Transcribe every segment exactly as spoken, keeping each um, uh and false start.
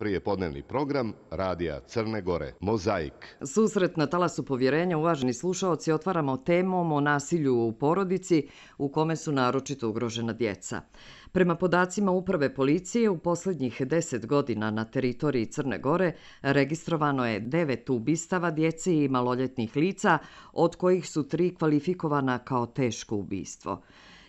Prijepodnevni program Radija Crne Gore, Mozaik. Susret na talasu povjerenja, uvaženi slušaoci, otvaramo temom o nasilju u porodici u kome su naročito ugrožena djeca. Prema podacima Uprave policije, u posljednjih deset godina na teritoriji Crne Gore registrovano je devet ubistava djece i maloljetnih lica, od kojih su tri kvalifikovana kao teško ubistvo.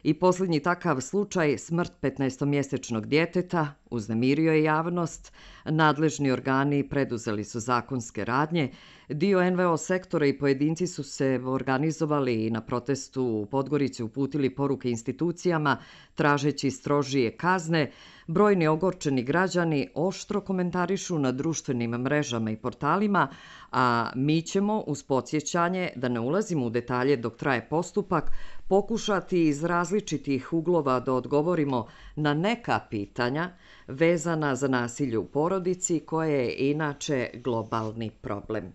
I posljednji takav slučaj, smrt petnaestomjesečnog djeteta, uznemirio je javnost, nadležni organi preduzeli su zakonske radnje, dio en ve o sektora i pojedinci su se organizovali i na protestu u Podgorici uputili poruke institucijama tražeći strožije kazne. Brojni ogorčeni građani oštro komentarišu na društvenim mrežama i portalima, a mi ćemo, uz podsjećanje da ne ulazimo u detalje dok traje postupak, pokušati iz različitih uglova da odgovorimo na neka pitanja vezana za nasilje u porodici, koje je inače globalni problem.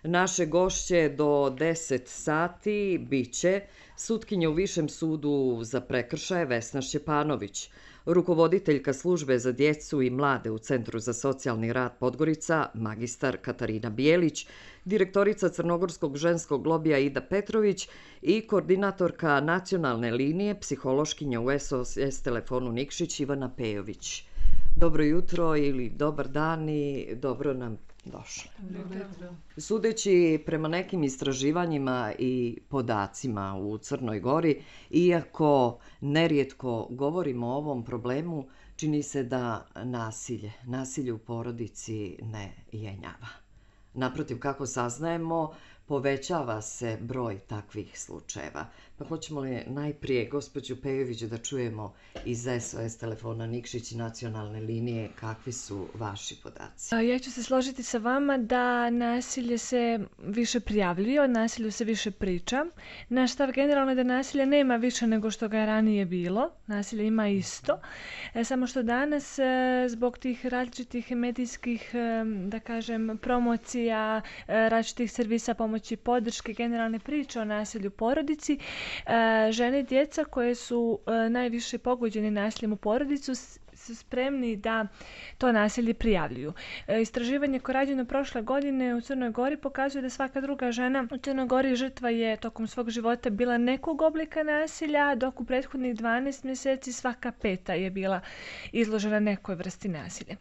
Naše gošće do deset sati biće sutkinja u Višem sudu za prekršaje Vesna Šćepanović, rukovoditeljka službe za djecu i mlade u Centru za socijalni rad Podgorica, magistar Katarina Bijelić, direktorica Crnogorskog ženskog lobija Ida Petrović i koordinatorka nacionalne linije psihološkinja u es o es telefonu Nikšić Ivana Pejović. Dobro jutro ili dobar dan i dobro nam došli. Sudeći prema nekim istraživanjima i podacima u Crnoj Gori, iako nerijetko govorimo o ovom problemu, čini se da nasilje, nasilje u porodici ne jenjava. Naprotiv, kako saznajemo, povećava se broj takvih slučajeva. Pa hoćemo li najprije gospođu Pejović da čujemo iz es o es telefona Nikšić i nacionalne linije kakvi su vaši podaci? Ja ću se složiti sa vama da nasilje se više prijavljuje, o nasilju se više priča. Naš stav generalno je da nasilja nema više nego što ga je ranije bilo. Nasilje ima isto. E, samo što danas e, zbog tih različitih medijskih, e, da kažem, promocija, e, različitih servisa pomoći i podrške, generalne priče o nasilju u porodici, e, žene i djeca koje su e, najviše pogođene nasiljem u porodicu su spremni da to nasilje prijavljuju. E, istraživanje koje je rađeno prošle godine u Crnoj Gori pokazuje da svaka druga žena u Crnoj Gori žrtva je tokom svog života bila nekog oblika nasilja, dok u prethodnih dvanaest mjeseci svaka peta je bila izložena nekoj vrsti nasilja.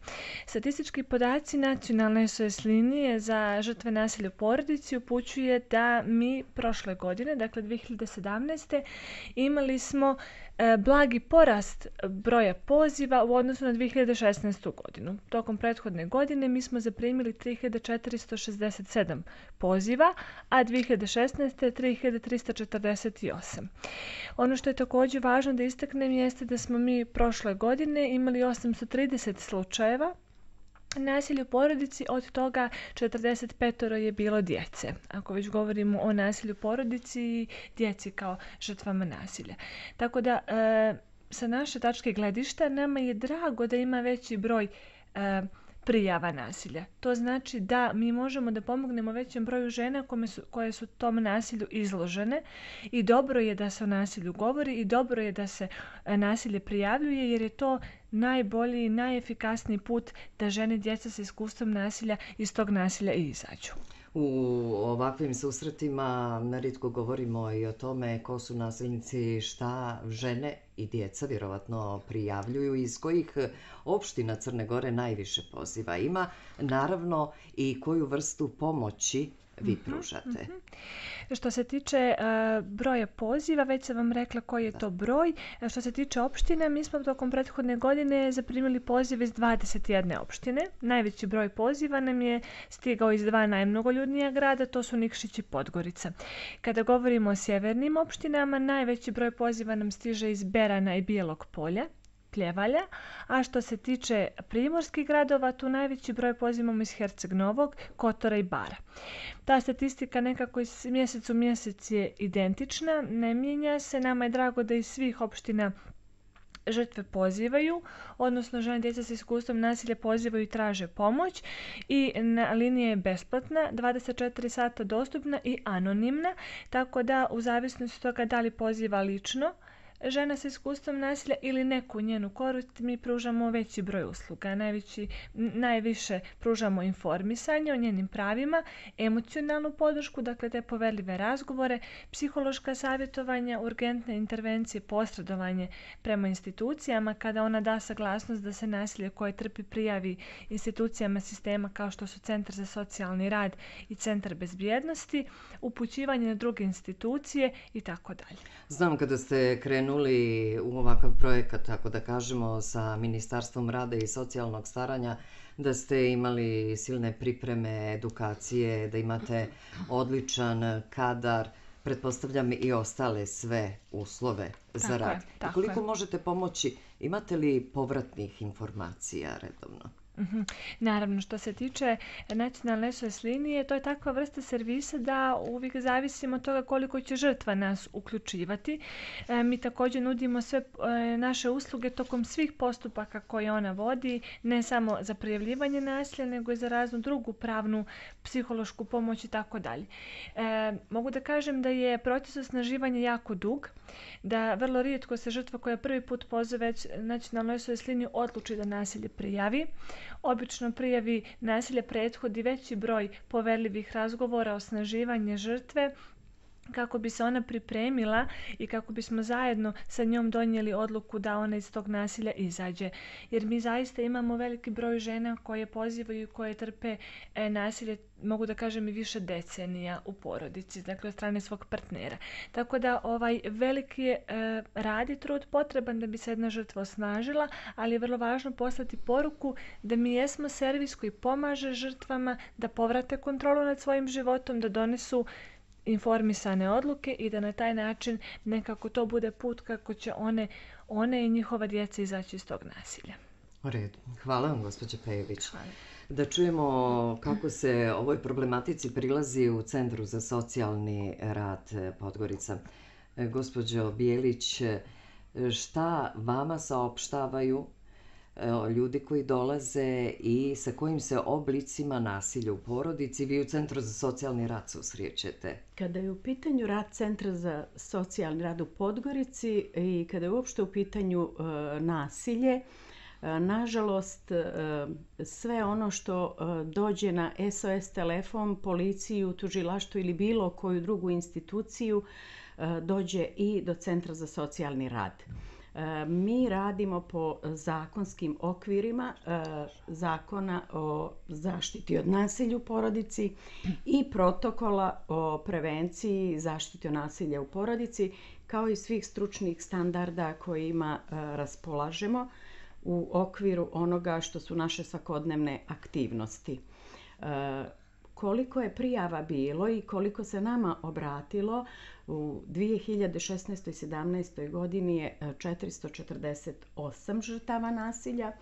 Statistički podaci nacionalne es o es linije za žrtve nasilja u porodici upućuje da mi prošle godine, dakle dvije hiljade sedamnaeste. imali smo e, blagi porast broja poziva u odnosu na dvije hiljade šesnaestu. godinu. Tokom prethodne godine mi smo zaprimili tri hiljade četiristo šezdeset sedam poziva, a dvije hiljade šesnaeste. tri hiljade trista četrdeset osam. Ono što je također važno da istaknem jeste da smo mi prošle godine imali osamsto trideset slučajeva nasilje u porodici, od toga četrdeset pet je bilo djece. Ako već govorimo o nasilju u porodici i djeci kao žrtvama nasilja. Tako da, e, sa naše tačke gledišta, nama je drago da ima veći broj e, prijava nasilja. To znači da mi možemo da pomognemo većem broju žena koje su, koje su tom nasilju izložene, i dobro je da se o nasilju govori i dobro je da se nasilje prijavljuje, jer je to najbolji i najefikasniji put da žene i djeca sa iskustvom nasilja iz tog nasilja i izađu. U ovakvim susretima nerijetko govorimo i o tome ko su nasilnici, šta žene i djeca vjerovatno prijavljuju, iz kojih opština Crne Gore najviše poziva ima, naravno i koju vrstu pomoći vi pružate. Mm-hmm. Što se tiče uh, broja poziva, već sam vam rekla koji je to broj. Što se tiče opštine, mi smo tokom prethodne godine zaprimili pozive iz dvadeset jedne opštine. Najveći broj poziva nam je stigao iz dva najmnogoljudnija grada, to su Nikšić i Podgorica. Kada govorimo o sjevernim opštinama, najveći broj poziva nam stiže iz Berana i Bijelog Polja, Pljevalja, a što se tiče primorskih gradova, tu najveći broj pozivamo iz Herceg Novog, Kotora i Bara. Ta statistika nekako iz mjesec u mjesec je identična, ne mijenja se. Nama je drago da iz svih opština žrtve pozivaju, odnosno žene i djeca sa iskustvom nasilja pozivaju i traže pomoć, i na linija je besplatna, dvadeset četiri sata dostupna i anonimna, tako da u zavisnosti od toga da li poziva lično žena sa iskustvom nasilja ili neku njenu korist, mi pružamo veći broj usluga. Najveći, najviše pružamo informisanje o njenim pravima, emocionalnu podršku, dakle te poverljive razgovore, psihološka savjetovanja, urgentne intervencije, posredovanje prema institucijama kada ona da saglasnost da se nasilje koje trpi prijavi institucijama sistema kao što su Centar za socijalni rad i Centar bezbjednosti, upućivanje na druge institucije i tako dalje. Znam kada ste krenuli u ovakav projekat, tako da kažemo, sa Ministarstvom rada i socijalnog staranja, da ste imali silne pripreme, edukacije, da imate odličan kadar, pretpostavljam i ostale sve uslove za Tako je, rad. tako I koliko je. možete pomoći, imate li povratnih informacija redovno? Mhm. Naravno, što se tiče nacionalne S O S linije, to je takva vrsta servisa da uvijek zavisimo od toga koliko će žrtva nas uključivati. E, mi također nudimo sve e, naše usluge tokom svih postupaka koje ona vodi, ne samo za prijavljivanje nasilja, nego i za raznu drugu pravnu, psihološku pomoć i tako dalje. E, mogu da kažem da je proces osnaživanja jako dug, da vrlo rijetko se žrtva koja prvi put pozove nacionalnu S O S liniju odluči da nasilje prijavi. Obično prijavi nasilje prethodi veći broj poverljivih razgovora, osnaživanje žrtve, kako bi se ona pripremila i kako bismo zajedno sa njom donijeli odluku da ona iz tog nasilja izađe. Jer mi zaista imamo veliki broj žena koje pozivaju i koje trpe e, nasilje, mogu da kažem i više decenija u porodici, dakle od strane svog partnera. Tako da ovaj veliki je e, rad i trud potreban da bi se jedna žrtva osnažila, ali je vrlo važno poslati poruku da mi jesmo servis koji pomaže žrtvama da povrate kontrolu nad svojim životom, da donesu informisane odluke i da na taj način nekako to bude put kako će one, one i njihova djeca izaći iz tog nasilja. U redu. Hvala vam, gospođo Pejović. Hvala. Da čujemo kako se ovoj problematici prilazi u Centru za socijalni rad Podgorica. E, Gospođo Bijelić, šta vama saopštavaju e, ljudi koji dolaze i sa kojim se oblicima nasilja u porodici vi u Centru za socijalni rad susrećete? Kada je u pitanju rad Centra za socijalni rad u Podgorici i kada je uopšte u pitanju e, nasilje, e, nažalost e, sve ono što e, dođe na S O S telefon, policiju, tužilaštvo ili bilo koju drugu instituciju e, dođe i do Centra za socijalni rad. Mi radimo po zakonskim okvirima zakona o zaštiti od nasilja u porodici i protokola o prevenciji i zaštiti od nasilja u porodici, kao i svih stručnih standarda kojima raspolažemo u okviru onoga što su naše svakodnevne aktivnosti. Koliko je prijava bilo i koliko se nama obratilo, u dvije hiljade šesnaestoj i sedamnaestoj godini je četiristo četrdeset osam žrtava nasilja.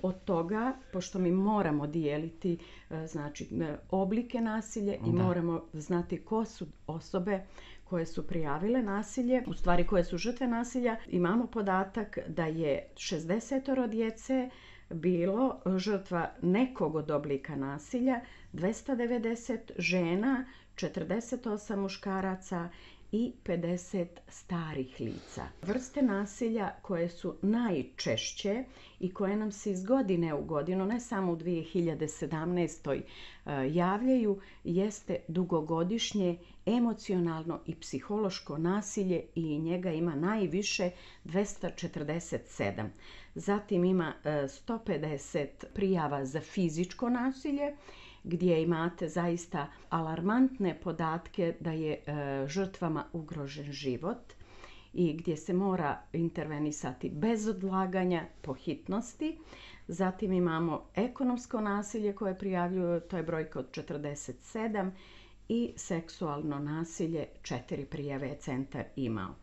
Od toga, pošto mi moramo dijeliti znači, oblike nasilja i Da. moramo znati ko su osobe koje su prijavile nasilje, u stvari koje su žrtve nasilja, imamo podatak da je šezdeset djece bilo žrtva nekog od oblika nasilja, dvesta devedeset žena, četrdeset osam muškaraca i pedeset starih lica. Vrste nasilja koje su najčešće i koje nam se iz godine u godinu, ne samo u dvije hiljade sedamnaestoj javljaju, jeste dugogodišnje emocionalno i psihološko nasilje i njega ima najviše dvesta četrdeset sedam. Zatim ima sto pedeset prijava za fizičko nasilje, gdje imate zaista alarmantne podatke da je e, žrtvama ugrožen život i gdje se mora intervenisati bez odlaganja po hitnosti. Zatim imamo ekonomsko nasilje koje prijavljuju, to je brojka od četrdeset sedam, i seksualno nasilje, četiri prijave je centar imao.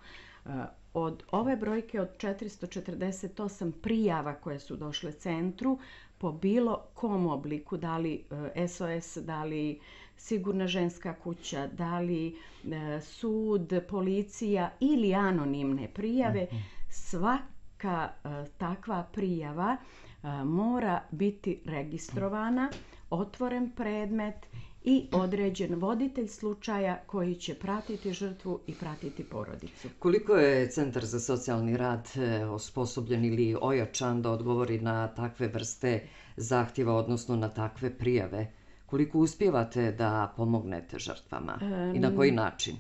E, od ove brojke od četiristo četrdeset osam prijava koje su došle centru, po bilo kom obliku, da li S O S, da li Sigurna ženska kuća, da li e, sud, policija ili anonimne prijave, svaka e, takva prijava e, mora biti registrovana, otvoren predmet i određen voditelj slučaja koji će pratiti žrtvu i pratiti porodicu. Koliko je Centar za socijalni rad osposobljen ili ojačan da odgovori na takve vrste zahtjeva, odnosno na takve prijave? Koliko uspijevate da pomognete žrtvama i na koji način?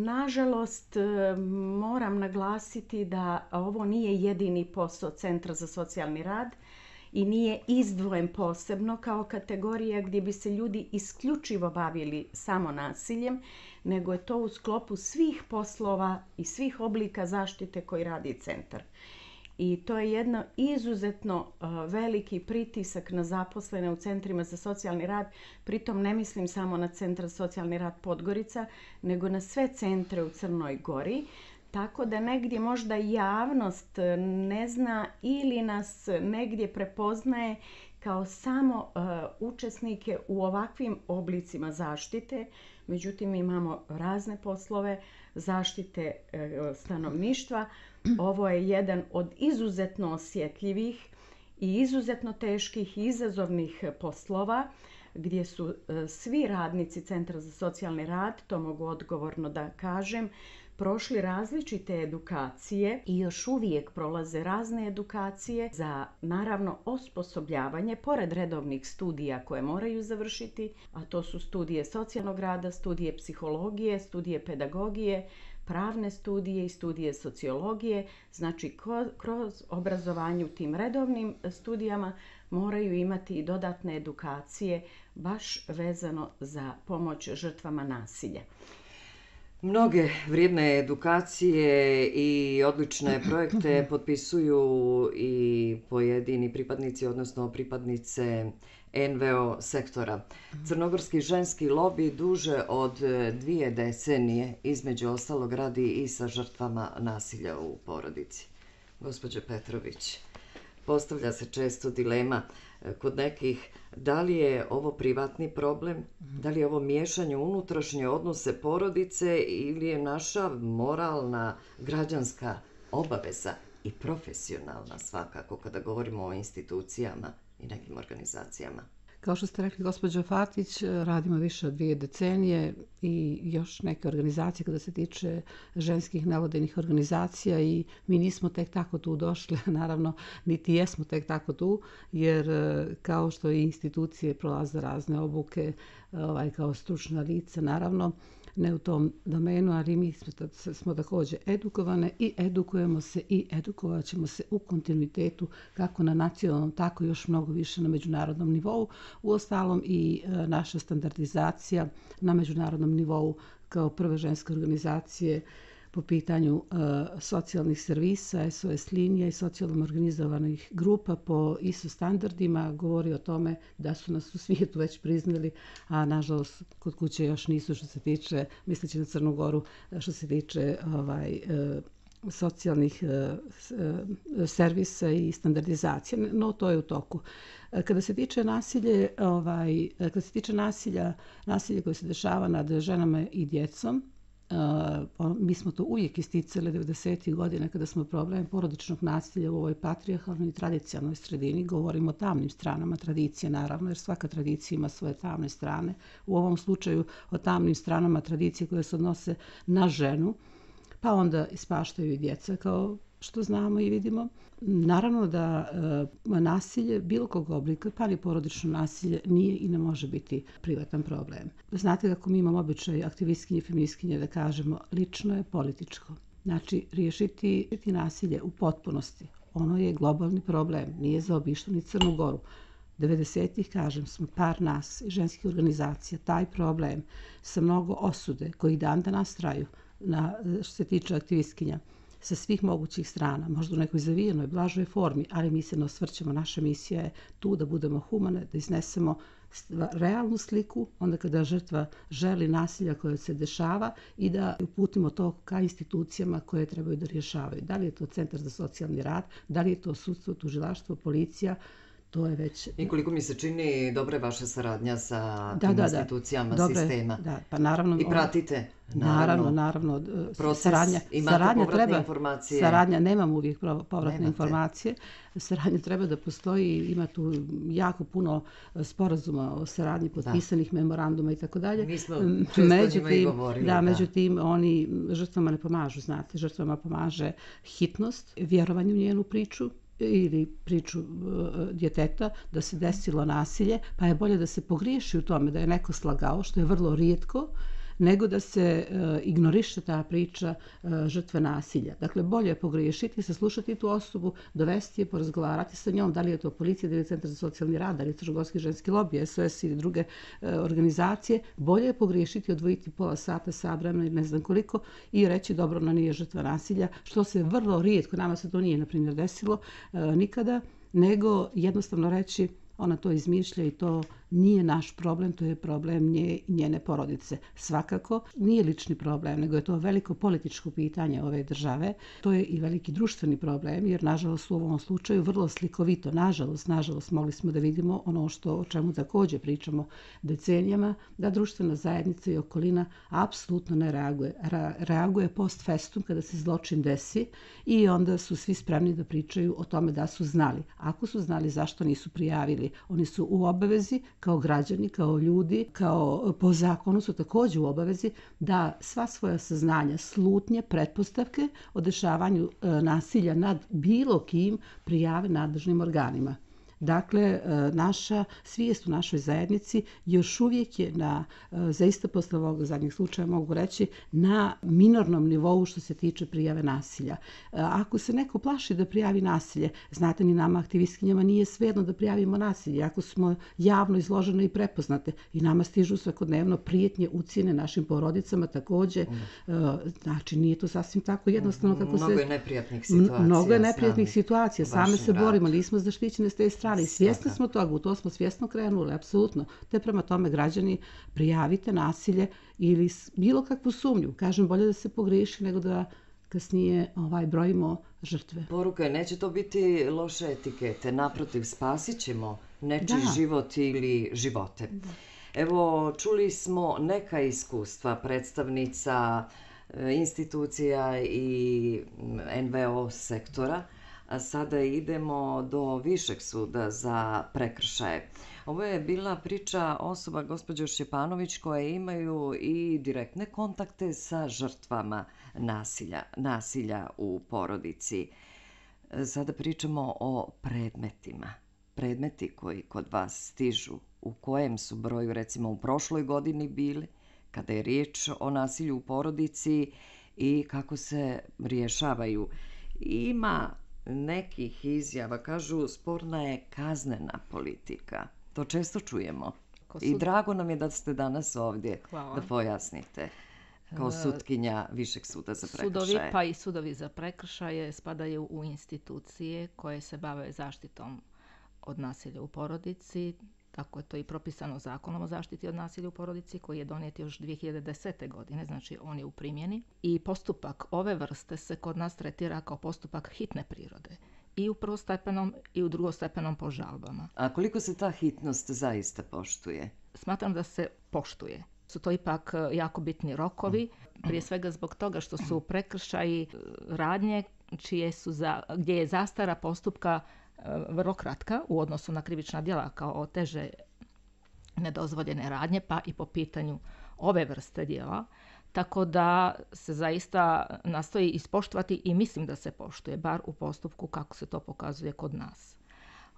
Nažalost, moram naglasiti da ovo nije jedini posao Centra za socijalni rad i nije izdvojen posebno kao kategorija gdje bi se ljudi isključivo bavili samo nasiljem, nego je to u sklopu svih poslova i svih oblika zaštite koji radi centar. I to je jedno izuzetno veliki pritisak na zaposlene u centrima za socijalni rad. Pritom ne mislim samo na Centar za socijalni rad Podgorica, nego na sve centre u Crnoj Gori. Tako da negdje možda javnost ne zna ili nas negdje prepoznaje kao samo uh, učesnike u ovakvim oblicima zaštite. Međutim, imamo razne poslove zaštite uh, stanovništva. Ovo je jedan od izuzetno osjetljivih i izuzetno teških i izazovnih poslova gdje su uh, svi radnici Centra za socijalni rad, to mogu odgovorno da kažem, prošli različite edukacije i još uvijek prolaze razne edukacije za, naravno, osposobljavanje, pored redovnih studija koje moraju završiti, a to su studije socijalnog rada, studije psihologije, studije pedagogije, pravne studije i studije sociologije. Znači, kroz obrazovanje u tim redovnim studijama moraju imati i dodatne edukacije baš vezano za pomoć žrtvama nasilja. Mnoge vrijedne edukacije i odlične projekte potpisuju i pojedini pripadnici, odnosno pripadnice en ve o sektora. Crnogorski ženski lobi duže od dvije decenije, između ostalog, radi i sa žrtvama nasilja u porodici. Gospođo Petrović, postavlja se često dilema kod nekih da li je ovo privatni problem, da li je ovo miješanje u unutrašnje odnose porodice ili je naša moralna, građanska obaveza i profesionalna svakako kada govorimo o institucijama i nekim organizacijama. Kao što ste rekli, gospođo Fatić, radimo više od dvije decenije i još neke organizacije kada se tiče ženskih nevladinih organizacija i mi nismo tek tako tu došli, naravno, niti jesmo tek tako tu, jer kao što i institucije prolaze razne obuke, ovaj, kao stručna lica, naravno, ne u tom domenu, ali mi smo, smo također edukovane i edukujemo se i edukovat ćemo se u kontinuitetu kako na nacionalnom, tako još mnogo više na međunarodnom nivou. Uostalom i e, naša standardizacija na međunarodnom nivou kao prve ženske organizacije po pitanju e, socijalnih servisa, es o es linija i socijalno organizovanih grupa po i es o standardima govori o tome da su nas u svijetu već priznali, a nažalost kod kuće još nisu što se tiče, misleći na Crnu Goru, što se tiče ovaj, e, socijalnih e, servisa i standardizacije, no to je u toku. Kada se tiče nasilje, ovaj, kada se tiče nasilja, nasilje koje se dešava nad ženama i djecom, Uh, mi smo to uvijek isticali devedesetih godina kada smo problem porodičnog nasilja u ovoj patrijarhalnoj i tradicionalnoj sredini. Govorimo o tamnim stranama tradicije, naravno, jer svaka tradicija ima svoje tamne strane. U ovom slučaju o tamnim stranama tradicije koje se odnose na ženu, pa onda ispaštaju i djeca, kao što znamo i vidimo. Naravno da e, nasilje bilo kog oblika, pa ni porodično nasilje, nije i ne može biti privatan problem. Znate kako mi imamo običaj aktivistkinje i feministkinje da kažemo lično je političko. Znači, riješiti nasilje u potpunosti. Ono je globalni problem, nije zaobišlo ni Crnu Goru. devedesetih, kažem, smo par nas i ženskih organizacija, taj problem sa mnogo osude koji dan danas traju na, što se tiče aktivistkinja, sa svih mogućih strana, možda u nekoj zavijenoj, blažoj formi, ali mi se ne osvrćemo. Naša misija je tu da budemo humane, da iznesemo realnu sliku, onda kada žrtva želi nasilja koje se dešava i da uputimo to ka institucijama koje trebaju da rješavaju. Da li je to Centar za socijalni rad, da li je to sudstvo, tužilaštvo, policija, to je već... I koliko mi se čini, dobra je vaša saradnja sa Da, tim da, da. institucijama Dobro je, sistema. da, pa naravno, I pratite, Naravno, naravno. naravno. Proces, Saradnja, imate saradnja povratne treba, informacije? Saradnja, nemam uvijek pro- povratne Nemate. informacije. Saradnja treba da postoji, ima tu jako puno sporazuma o saradnji, potpisanih memoranduma i tako dalje. Mi smo često o njima i Međutim, govorili, da, da. međutim, oni žrtvama ne pomažu, znate. Žrtvama pomaže hitnost, vjerovanje u njenu priču, ili priču uh, djeteta da se desilo nasilje, pa je bolje da se pogriješi u tome da je neko slagao, što je vrlo rijetko, nego da se uh, ignoriše ta priča uh, žrtve nasilja. Dakle, bolje je pogriješiti, saslušati tu osobu, dovesti je, porazgovarati sa njom, da li je to policija, da li je Centar za socijalni rad, da li je Crnogorski ženski lobij, S O S ili druge uh, organizacije. Bolje je pogriješiti, odvojiti pola sata, sat vremena ili ne znam koliko i reći dobro, ona nije žrtva nasilja, što se vrlo rijetko, nama se to nije, na primjer, desilo uh, nikada, nego jednostavno reći ona to izmišlja i to nije naš problem, to je problem nje i njene porodice. Svakako nije lični problem, nego je to veliko političko pitanje ove države. To je i veliki društveni problem, jer nažalost u ovom slučaju vrlo slikovito, nažalost, nažalost mogli smo da vidimo ono što o čemu također pričamo decenijama, da društvena zajednica i okolina apsolutno ne reaguje. Ra- reaguje post festum kada se zločin desi i onda su svi spremni da pričaju o tome da su znali. Ako su znali, zašto nisu prijavili? Oni su u obavezi kao građani, kao ljudi, kao po zakonu su također u obavezi da sva svoja saznanja, slutnje, pretpostavke o dešavanju e, nasilja nad bilo kim prijave nadležnim organima. Dakle, naša svijest u našoj zajednici još uvijek je na, zaista posle ovog zadnjeg slučaja mogu reći, na minornom nivou što se tiče prijave nasilja. Ako se neko plaši da prijavi nasilje, znate, ni nama aktivistkinjama nije svejedno da prijavimo nasilje. Ako smo javno izložene i prepoznate i nama stižu svakodnevno prijetnje, ucjene našim porodicama također, znači nije to sasvim tako jednostavno kako se... Mnogo je neprijatnih situacija. Mnogo je neprijatnih situacija, same se radu. borimo, nismo zaštićene s te strane. I svjesni smo toga, u to smo svjesno krenuli, apsolutno. Te prema tome građani prijavite nasilje ili bilo kakvu sumnju. Kažem, bolje da se pogriješi nego da kasnije ovaj, brojimo žrtve. Poruka je, neće to biti loše etikete, naprotiv, spasit ćemo nečiji Da. život ili živote. Evo, čuli smo neka iskustva predstavnica e, institucija i N V O sektora, a sada idemo do Višeg suda za prekršaje. Ovo je bila priča osoba, gospođo Šćepanović, koje imaju i direktne kontakte sa žrtvama nasilja, nasilja u porodici. Sada pričamo o predmetima. Predmeti koji kod vas stižu, u kojem su broju recimo u prošloj godini bili, kada je riječ o nasilju u porodici i kako se rješavaju. Ima nekih izjava, kažu, sporna je kaznena politika. To često čujemo. I drago nam je da ste danas ovdje. Hvala. Da pojasnite kao sutkinja Višeg suda za prekršaje. Sudovi, pa i sudovi za prekršaje spadaju u institucije koje se bave zaštitom od nasilja u porodici. Tako je to i propisano Zakonom o zaštiti od nasilja u porodici koji je donijet još dvije hiljade desete. godine, znači on je u primjeni. I postupak ove vrste se kod nas tretira kao postupak hitne prirode. I u prvostepenom i u drugostepenom po žalbama. A koliko se ta hitnost zaista poštuje? Smatram da se poštuje. Su to ipak jako bitni rokovi, prije svega zbog toga što su prekršaji radnje čije su za, gdje je zastara postupka vrlo kratka u odnosu na krivična djela kao teže nedozvoljene radnje, pa i po pitanju ove vrste djela. Tako da se zaista nastoji ispoštovati i mislim da se poštuje, bar u postupku kako se to pokazuje kod nas.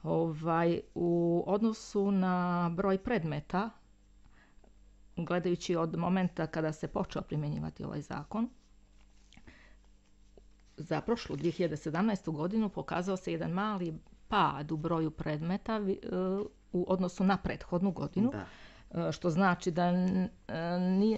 Ovaj, u odnosu na broj predmeta, gledajući od momenta kada se počeo primjenjivati ovaj zakon, za prošlu dvije hiljade sedamnaestu. godinu pokazao se jedan mali pad u broju predmeta u odnosu na prethodnu godinu. Da. Što znači da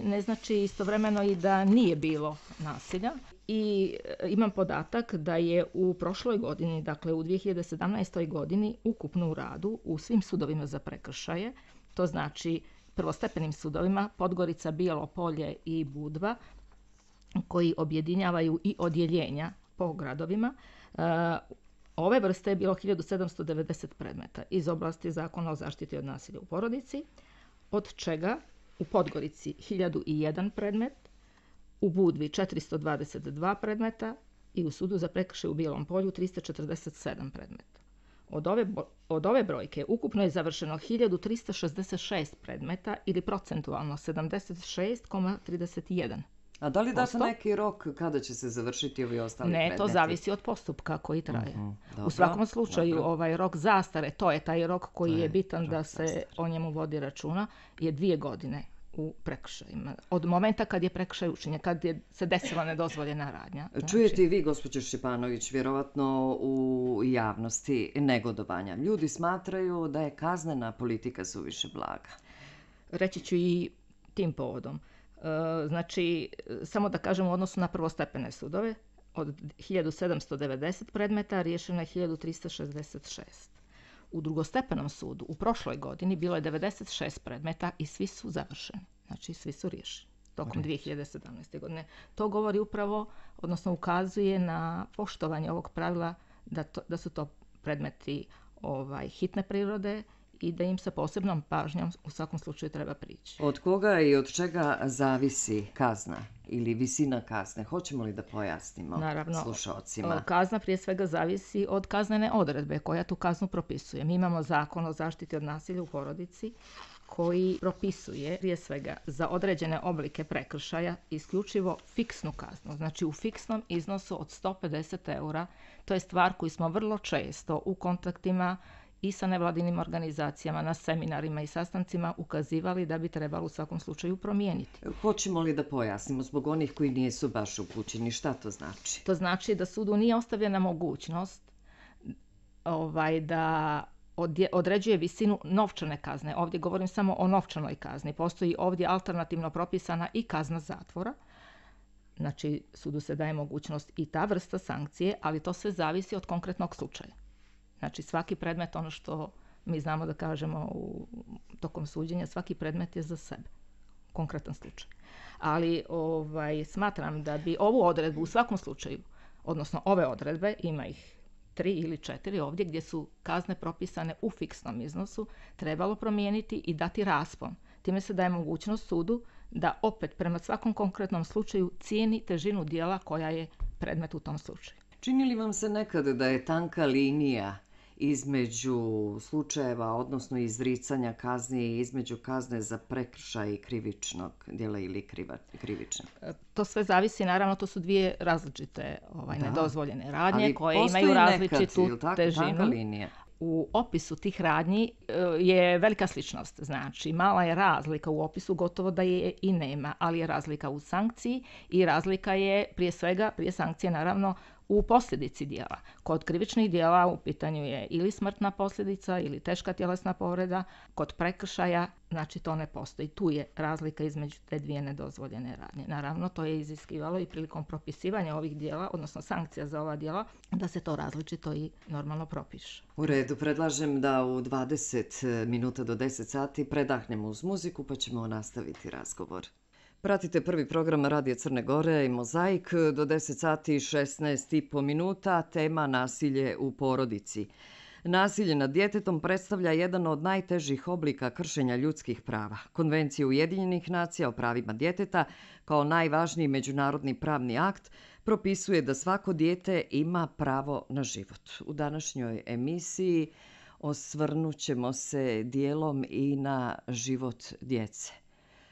ne znači istovremeno i da nije bilo nasilja. I imam podatak da je u prošloj godini, dakle u dvije hiljade sedamnaestoj. godini, ukupno u radu u svim sudovima za prekršaje, to znači prvostepenim sudovima Podgorica, Bijelo Polje i Budva, koji objedinjavaju i odjeljenja po gradovima, Ove vrste je bilo hiljadu sedamsto devedeset predmeta iz oblasti Zakona o zaštiti od nasilja u porodici, od čega u Podgorici hiljadu jedan predmet, u Budvi četiristo dvadeset dva predmeta i u Sudu za prekršaje u Bijelom Polju tristo četrdeset sedam predmeta. Od ove, od ove brojke ukupno je završeno hiljadu tristo šezdeset šest predmeta ili procentualno sedamdeset šest zarez trideset jedan. A da li date neki rok kada će se završiti ovi ostali ne, predmeti? Ne, to zavisi od postupka koji traje. Uh-huh, dobro, u svakom slučaju dobro. ovaj rok zastare, to je taj rok koji je je bitan rok da se zastare. o njemu vodi računa, je dvije godine u prekršajima. Od momenta kad je prekršaj učinjen, kad je se desila nedozvoljena radnja. Znači... Čujete i vi, gospođo Šćepanović, vjerovatno u javnosti negodovanja. Ljudi smatraju da je kaznena politika suviše blaga. Reći ću i tim povodom. Znači, samo da kažem u odnosu na prvostepene sudove, od hiljadu sedamsto devedeset predmeta riješeno je hiljadu tristo šezdeset šest. U drugostepenom sudu u prošloj godini bilo je devedeset šest predmeta i svi su završeni. Znači, svi su riješeni tokom dvije hiljade sedamnaeste. godine. To govori upravo, odnosno ukazuje na poštovanje ovog pravila da, to, da su to predmeti ovaj, hitne prirode i da im sa posebnom pažnjom u svakom slučaju treba prići. Od koga i od čega zavisi kazna ili visina kazne? Hoćemo li da pojasnimo Naravno, slušaocima? Kazna prije svega zavisi od kaznene odredbe koja tu kaznu propisuje. Mi imamo Zakon o zaštiti od nasilja u porodici koji propisuje prije svega za određene oblike prekršaja isključivo fiksnu kaznu. Znači u fiksnom iznosu od sto pedeset eura. To je stvar koju smo vrlo često u kontaktima i sa nevladinim organizacijama, na seminarima i sastancima ukazivali da bi trebalo u svakom slučaju promijeniti. Hoćemo li da pojasnimo zbog onih koji nisu baš upućeni? Šta to znači? To znači da sudu nije ostavljena mogućnost ovaj, da određuje visinu novčane kazne. Ovdje govorim samo o novčanoj kazni. Postoji ovdje alternativno propisana i kazna zatvora. Znači, sudu se daje mogućnost i ta vrsta sankcije, ali to sve zavisi od konkretnog slučaja. Znači, svaki predmet, ono što mi znamo da kažemo u tokom suđenja, svaki predmet je za sebe. Konkretan slučaj. Ali ovaj, smatram da bi ovu odredbu u svakom slučaju, odnosno ove odredbe, ima ih tri ili četiri ovdje gdje su kazne propisane u fiksnom iznosu, trebalo promijeniti i dati raspon. Time se daje mogućnost sudu da opet prema svakom konkretnom slučaju cijeni težinu djela koja je predmet u tom slučaju. Čini li vam se nekad da je tanka linija između slučajeva, odnosno izricanja kazni i između kazne za prekršaj krivičnog djela ili kriva, krivičnog? To sve zavisi, naravno, to su dvije različite ovaj, nedozvoljene radnje ali koje imaju različitu nekad, tako, težinu. Tanka linija. U opisu tih radnji je velika sličnost. Znači, mala je razlika u opisu, gotovo da je i nema, ali je razlika u sankciji i razlika je prije svega, prije sankcije naravno, u posljedici djela. Kod krivičnih djela u pitanju je ili smrtna posljedica ili teška tjelesna povreda. Kod prekršaja, znači to ne postoji. Tu je razlika između te dvije nedozvoljene radnje. Naravno, to je iziskivalo i prilikom propisivanja ovih djela, odnosno sankcija za ova djela, da se to različito i normalno propiše. U redu, predlažem da u dvadeset minuta do deset sati predahnemo uz muziku pa ćemo nastaviti razgovor. Pratite prvi program Radija Crne Gore i Mozaik do deset sati i šesnaest i po minuta, tema nasilje u porodici. Nasilje nad djetetom predstavlja jedan od najtežih oblika kršenja ljudskih prava. Konvencija Ujedinjenih nacija o pravima djeteta, kao najvažniji međunarodni pravni akt, propisuje da svako dijete ima pravo na život. U današnjoj emisiji osvrnut ćemo se dijelom i na život djece,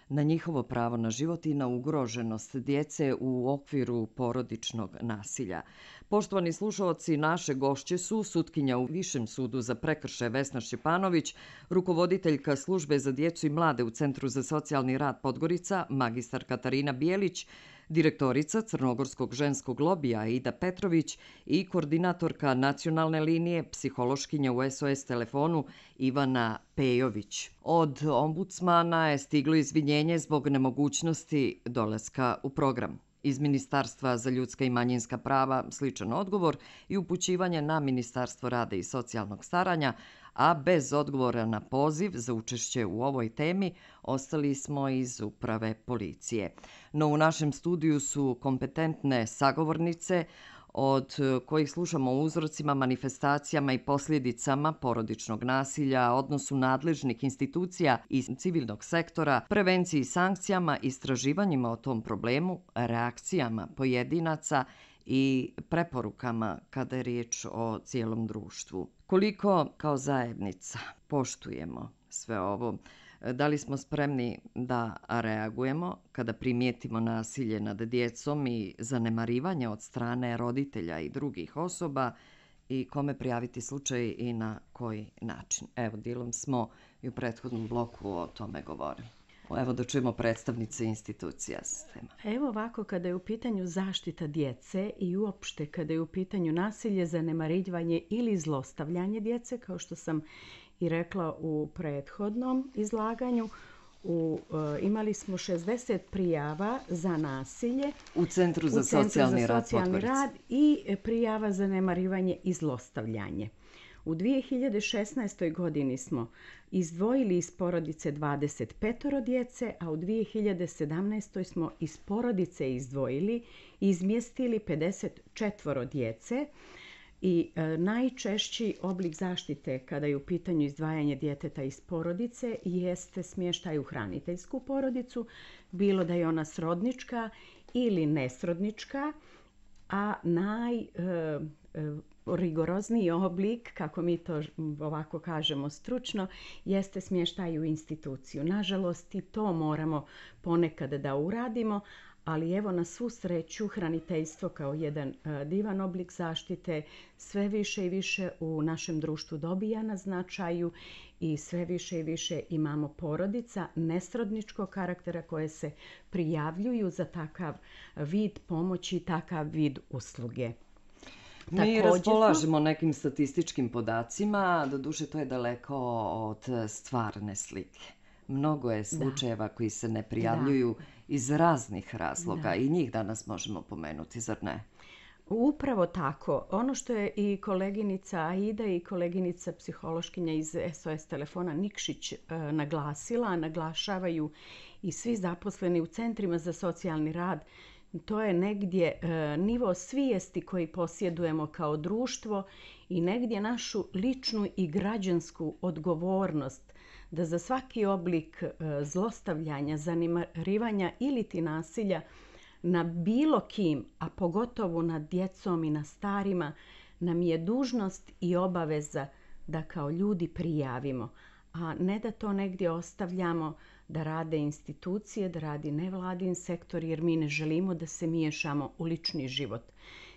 na njihovo pravo na život i na ugroženost djece u okviru porodičnog nasilja. Poštovani slušalci, naše gošće su sutkinja u Višem sudu za prekršaje Vesna Šćepanović, rukovoditeljka službe za djecu i mlade u Centru za socijalni rad Podgorica, magistar Katarina Bijelić, direktorica Crnogorskog ženskog lobija Aida Petrović i koordinatorka nacionalne linije psihološkinja u S O S telefonu Ivana Pejović. Od ombudsmana je stiglo izvinjenje zbog nemogućnosti dolaska u program. Iz Ministarstva za ljudska i manjinska prava sličan odgovor i upućivanje na Ministarstvo rada i socijalnog staranja, a bez odgovora na poziv za učešće u ovoj temi ostali smo iz uprave policije. No u našem studiju su kompetentne sagovornice od kojih slušamo o uzrocima, manifestacijama i posljedicama porodičnog nasilja, odnosu nadležnih institucija i civilnog sektora, prevenciji i sankcijama, istraživanjima o tom problemu, reakcijama pojedinaca i preporukama kada je riječ o cijelom društvu. Koliko kao zajednica poštujemo sve ovo? Da li smo spremni da reagujemo kada primijetimo nasilje nad djecom i zanemarivanje od strane roditelja i drugih osoba i kome prijaviti slučaj i na koji način? Evo, dijelom smo i u prethodnom bloku o tome govorili. Evo da čujemo predstavnice institucija sistema. Evo ovako, kada je u pitanju zaštita djece i uopšte kada je u pitanju nasilje, zanemarivanje ili zlostavljanje djece, kao što sam i rekla u prethodnom izlaganju, u, e, imali smo šezdeset prijava za nasilje u Centru za u Centru socijalni, za rad, socijalni rad i prijava za zanemarivanje i zlostavljanje. U dvije hiljade šesnaestoj. godini smo izdvojili iz porodice dvadeset pet djece, a u dvije hiljade sedamnaestoj. smo iz porodice izdvojili i izmjestili pedeset četiri djece. I e, najčešći oblik zaštite kada je u pitanju izdvajanje djeteta iz porodice jeste smještaj u hraniteljsku porodicu, bilo da je ona srodnička ili nesrodnička, a naj... E, e, rigorozniji oblik, kako mi to ovako kažemo stručno, jeste smještaj u instituciju. Nažalost, i to moramo ponekad da uradimo, ali evo na svu sreću hraniteljstvo kao jedan uh, divan oblik zaštite sve više i više u našem društvu dobija na značaju i sve više i više imamo porodica nesrodničkog karaktera koje se prijavljuju za takav vid pomoći i takav vid usluge. Mi Također raspolažemo nekim statističkim podacima, doduše to je daleko od stvarne slike. Mnogo je slučajeva koji se ne prijavljuju da. iz raznih razloga da. i njih danas možemo pomenuti, zar ne? Upravo tako. Ono što je i koleginica Aida i koleginica psihološkinja iz S O S telefona Nikšić e, naglasila, naglašavaju i svi zaposleni u centrima za socijalni rad, to je negdje e, nivo svijesti koji posjedujemo kao društvo i negdje našu ličnu i građansku odgovornost da za svaki oblik e, zlostavljanja, zanemarivanja ili ti nasilja na bilo kim, a pogotovo nad djecom i na starima, nam je dužnost i obaveza da kao ljudi prijavimo, a ne da to negdje ostavljamo da rade institucije, da radi nevladin sektor, jer mi ne želimo da se miješamo u lični život.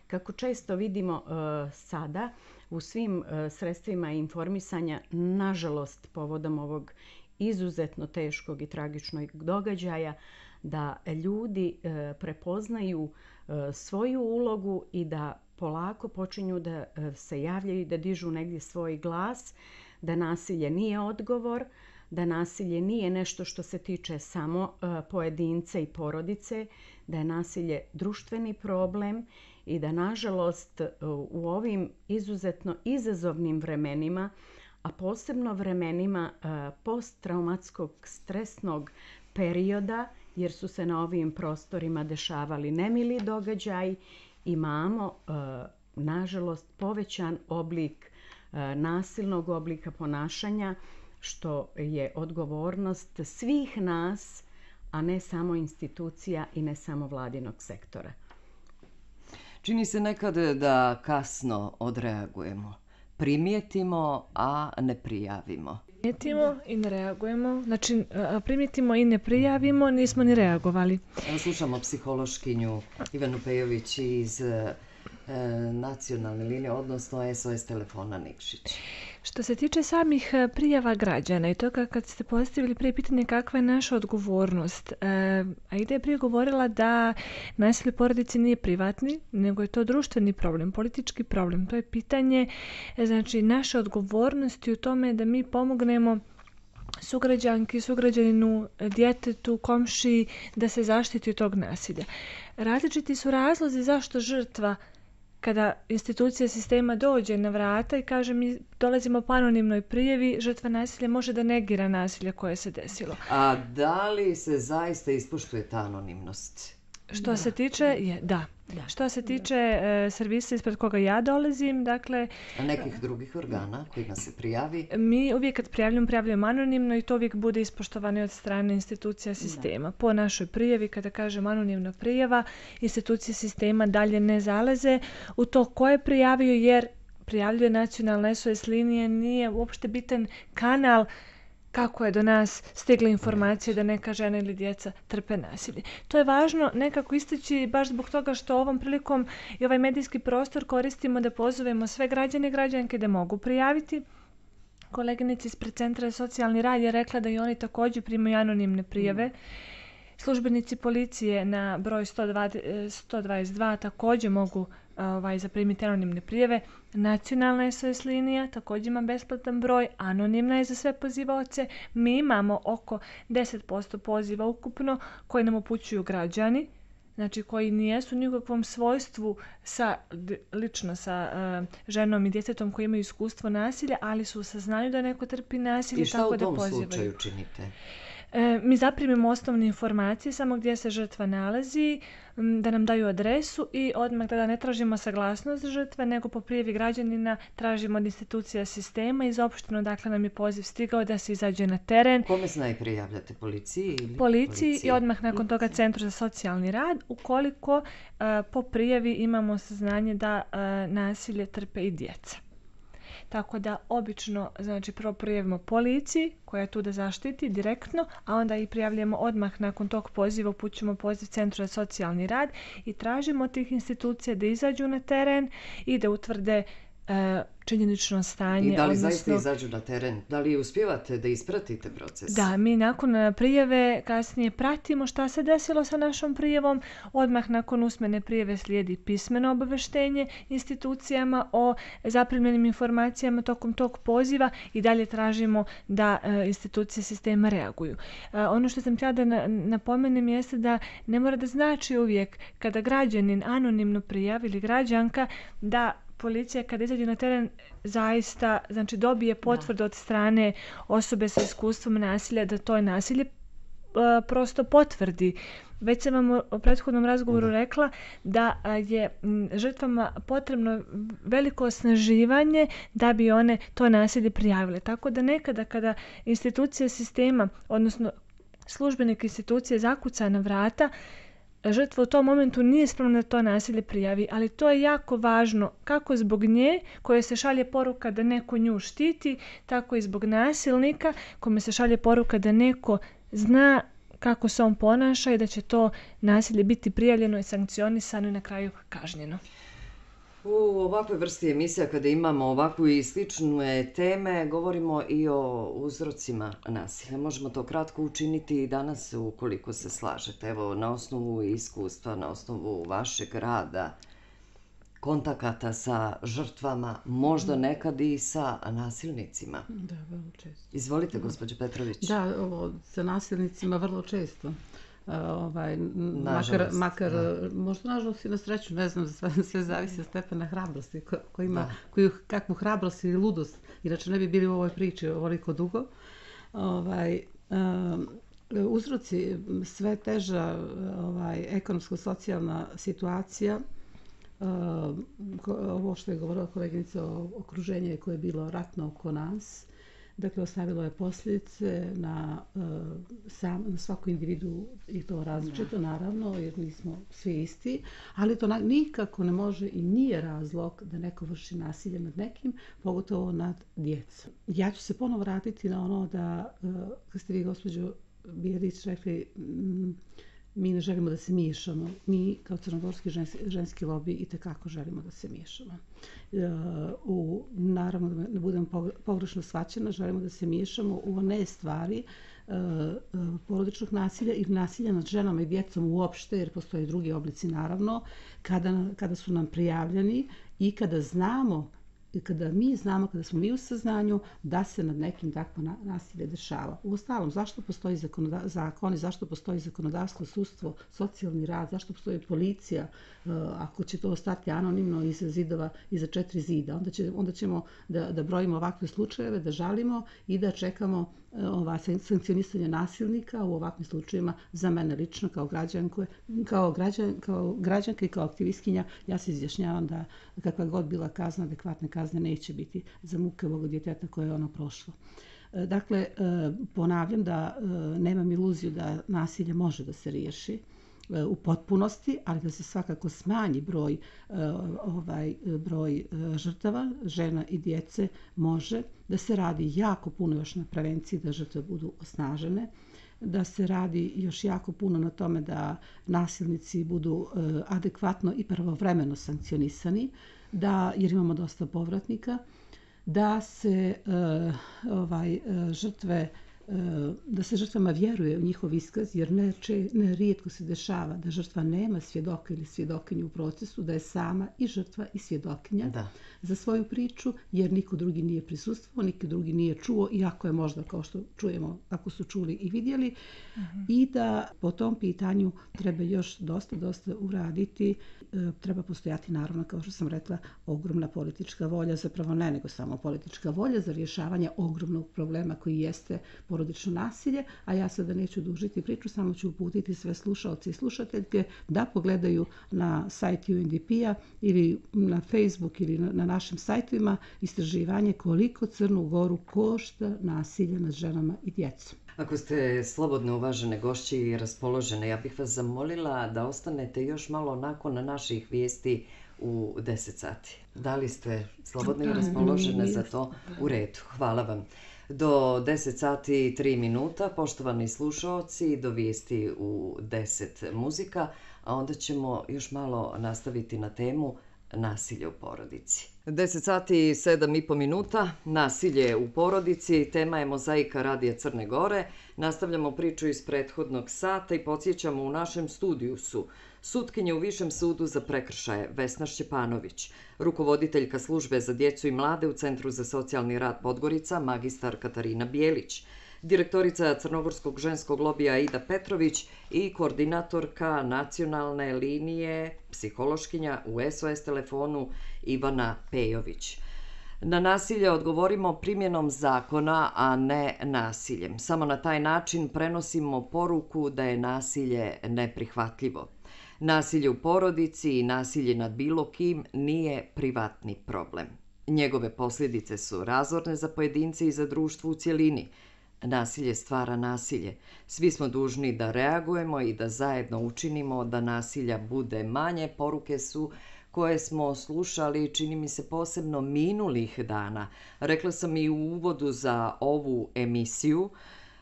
Kako često vidimo e, sada u svim e, sredstvima informisanja, nažalost, povodom ovog izuzetno teškog i tragičnog događaja, da ljudi e, prepoznaju e, svoju ulogu i da polako počinju da e, se javljaju i da dižu negdje svoj glas, da nasilje nije odgovor, da nasilje nije nešto što se tiče samo uh, pojedinca i porodice, da je nasilje društveni problem i da nažalost uh, u ovim izuzetno izazovnim vremenima, a posebno vremenima uh, posttraumatskog stresnog perioda, jer su se na ovim prostorima dešavali nemili događaji, imamo uh, nažalost povećan oblik uh, nasilnog oblika ponašanja, što je odgovornost svih nas, a ne samo institucija i ne samo vladinog sektora. Čini se nekad da kasno odreagujemo. Primijetimo, a ne prijavimo. Primijetimo i ne reagujemo. Znači, primijetimo i ne prijavimo, nismo ni reagovali. Evo slušamo psihološkinju Ivanu Pejović iz e, nacionalne linije, odnosno S O S telefona Nikšić. Što se tiče samih prijava građana i toga kad ste postavili prije pitanje kakva je naša odgovornost, e, Aida je prije govorila da nasilje u porodici nije privatni, nego je to društveni problem, politički problem. To je pitanje znači, naše odgovornosti u tome da mi pomognemo sugrađanki, sugrađaninu, djetetu, komšiji da se zaštiti od tog nasilja. Različiti su razlozi zašto žrtva kada institucija sistema dođe na vrata i kaže mi dolazimo po anonimnoj prijavi, žrtva nasilja može da negira nasilje koje se desilo. A da li se zaista ispoštuje ta anonimnost? Što da. se tiče, je, da. Da. Što se tiče e, servisa ispred koga ja dolazim, dakle... A nekih drugih organa kojima se prijavi? Mi uvijek kad prijavljamo, prijavljamo anonimno i to uvijek bude ispoštovano od strane institucija sistema. Da. Po našoj prijavi, kada kažem anonimna prijava, institucije sistema dalje ne zalaze u to ko je prijavio, jer prijavljuje nacionalna S O S linija, nije uopšte bitan kanal kako je do nas stigla informacija da neka žena ili djeca trpe nasilje. To je važno nekako istaći baš zbog toga što ovom prilikom i ovaj medijski prostor koristimo da pozovemo sve građane i građanke da mogu prijaviti. Koleginica ispred Centra za socijalni rad je rekla da i oni također primaju anonimne prijave. Službenici policije na broj sto dvadeset dva također mogu ovaj, zaprimiti anonimne prijave. Nacionalna S O S linija također ima besplatan broj, anonimna je za sve pozivaoce. Mi imamo oko deset posto poziva ukupno koji nam upućuju građani, znači koji nijesu ni u kakvom svojstvu sa, lično sa uh, ženom i djetetom koji imaju iskustvo nasilja, ali su u saznanju da neko trpi nasilje. I šta tako u tom da pozivaju. slučaju činite? E, mi zaprimimo osnovne informacije, samo gdje se žrtva nalazi, da nam daju adresu i odmah tada ne tražimo saglasnost žrtve, nego po prijavi građanina tražimo od institucija sistema i zaopšteno dakle nam je poziv stigao da se izađe na teren. Kome se najprije javljate? Policiji ili Policiji policiji? I odmah nakon toga Centru za socijalni rad, ukoliko uh, po prijavi imamo saznanje da uh, nasilje trpe i djeca. Tako da obično, znači prvo prijavimo policiji koja je tu da zaštiti direktno, a onda i prijavljamo odmah nakon tog poziva, upućujemo poziv Centru za socijalni rad i tražimo od tih institucija da izađu na teren i da utvrde e, činjenično stanje. I da li odnosno, zaista izađu na teren? Da li uspijevate da ispratite proces? Da, mi nakon prijave kasnije pratimo šta se desilo sa našom prijavom. Odmah nakon usmene prijave slijedi pismeno obaveštenje institucijama o zaprimljenim informacijama tokom tog poziva i dalje tražimo da e, institucije sistema reaguju. E, ono što sam htjela da na, napomenem jeste da ne mora da znači uvijek kada građanin anonimno prijavi ili građanka da policija kada izađe na teren zaista znači dobije potvrdu od strane osobe sa iskustvom nasilja da to je nasilje uh, prosto potvrdi. Već sam vam u prethodnom razgovoru rekla da je žrtvama potrebno veliko osnaživanje da bi one to nasilje prijavile. Tako da nekada kada institucija sistema, odnosno službenik institucije zakuca na vrata, žrtva u tom momentu nije spremna da to nasilje prijavi, ali to je jako važno kako zbog nje koje se šalje poruka da neko nju štiti, tako i zbog nasilnika kome se šalje poruka da neko zna kako se on ponaša i da će to nasilje biti prijavljeno i sankcionisano i na kraju kažnjeno. U ovakvoj vrsti emisija kada imamo ovakvu i slične teme, govorimo i o uzrocima nasilja. Možemo to kratko učiniti i danas ukoliko se slažete. Evo, na osnovu iskustva, na osnovu vašeg rada, kontakata sa žrtvama, možda nekad i sa nasilnicima. Da, vrlo često. Izvolite, gospođo Petrović. Da, ovo, sa nasilnicima vrlo često. Uh, ovaj, makar, makar možda nažalost i na sreću, ne znam, sve, sve zavisi od stepena hrabrosti ko, ko ima, koju, kakvu hrabrost ili ludost, inače ne bi bili u ovoj priči ovoliko dugo. Ovaj, um, uzroci sve teža ovaj, ekonomsko-socijalna situacija, uh, ovo što je govorila koleginica o okruženju koje je bilo ratno oko nas, dakle, ostavilo je posljedice na, uh, sam, na svaku individu i to različito, naravno, jer nismo svi isti, ali to na, nikako ne može i nije razlog da neko vrši nasilje nad nekim, pogotovo nad djecom. Ja ću se ponovo vratiti na ono da, uh, kad ste vi, gospođo Bijelić, rekli, mm, mi ne želimo da se miješamo. Mi, kao crnogorski ženski, ženski lobi, itekako želimo da se miješamo. Uh, u, naravno, da ne budem pogrešno shvaćena, želimo da se miješamo u one stvari uh, uh, porodičnog nasilja ili nasilja nad ženama i djecom uopšte, jer postoje drugi oblici, naravno, kada, kada su nam prijavljeni i kada znamo i kada mi znamo, kada smo mi u saznanju da se nad nekim takvo nasilje dešava. Uostalom, zašto postoji zakoni, zašto postoji zakonodavstvo, sudstvo, socijalni rad, zašto postoji policija, ako će to ostati anonimno iza zidova, iza četiri zida, onda, će, onda ćemo da, da brojimo ovakve slučajeve, da žalimo i da čekamo ova, sankcionisanje nasilnika u ovakvim slučajevima za mene lično kao građanku, kao, građan, kao građanka i kao aktivistkinja, ja se izjašnjavam da kakva god bila kazna, adekvatne kazne neće biti za muke ovog djeteta koje je ono prošlo. Dakle, ponavljam da nemam iluziju da nasilje može da se riješi u potpunosti, ali da se svakako smanji broj, ovaj, broj žrtava, žena i djece može, da se radi jako puno još na prevenciji, da žrtve budu osnažene, da se radi još jako puno na tome da nasilnici budu adekvatno i pravovremeno sankcionisani, da, jer imamo dosta povratnika, da se ovaj, žrtve da se žrtvama vjeruje u njihov iskaz, jer ne, če, ne rijetko se dešava da žrtva nema svjedoka ili svjedokinju u procesu, da je sama i žrtva i svjedokinja da. Za svoju priču, jer niko drugi nije prisustvovao, niko drugi nije čuo, iako je možda, kao što čujemo, ako su čuli i vidjeli, uh-huh. i da po tom pitanju treba još dosta, dosta uraditi. E, treba postojati, naravno, kao što sam rekla, ogromna politička volja, zapravo ne nego samo politička volja za rješavanje ogromnog problema koji jeste porodično nasilje, a ja sada neću dužiti priču, samo ću uputiti sve slušaoce i slušateljke da pogledaju na sajt U N D P-a ili na Facebook ili na, na našim sajtovima istraživanje koliko Crnu Goru košta nasilje nad ženama i djecom. Ako ste slobodne, uvažene gošće i raspoložene, ja bih vas zamolila da ostanete još malo nakon naših vijesti u deset sati. Da li ste slobodne i raspoložene za to? U redu, hvala vam. Do deset sati i tri minuta, poštovani slušaoci, do vijesti u deset muzika, a onda ćemo još malo nastaviti na temu nasilje u porodici. deset sati i sedam i po minuta, nasilje u porodici, tema je Mozaika Radija Crne Gore. Nastavljamo priču iz prethodnog sata i podsjećamo, u našem studiju su sutkinja u Višem sudu za prekršaje Vesna Šćepanović, rukovoditeljka službe za djecu i mlade u Centru za socijalni rad Podgorica, magistar Katarina Bijelić, direktorica Crnogorskog ženskog lobija Aida Petrović i koordinatorka nacionalne linije psihološkinja u S O S telefonu Ivana Pejović. Na nasilje odgovorimo primjenom zakona, a ne nasiljem. Samo na taj način prenosimo poruku da je nasilje neprihvatljivo. Nasilje u porodici i nasilje nad bilo kim nije privatni problem. Njegove posljedice su razorne za pojedince i za društvo u cjelini. Nasilje stvara nasilje. Svi smo dužni da reagujemo i da zajedno učinimo da nasilja bude manje. Poruke su koje smo slušali, čini mi se, posebno minulih dana. Rekla sam i u uvodu za ovu emisiju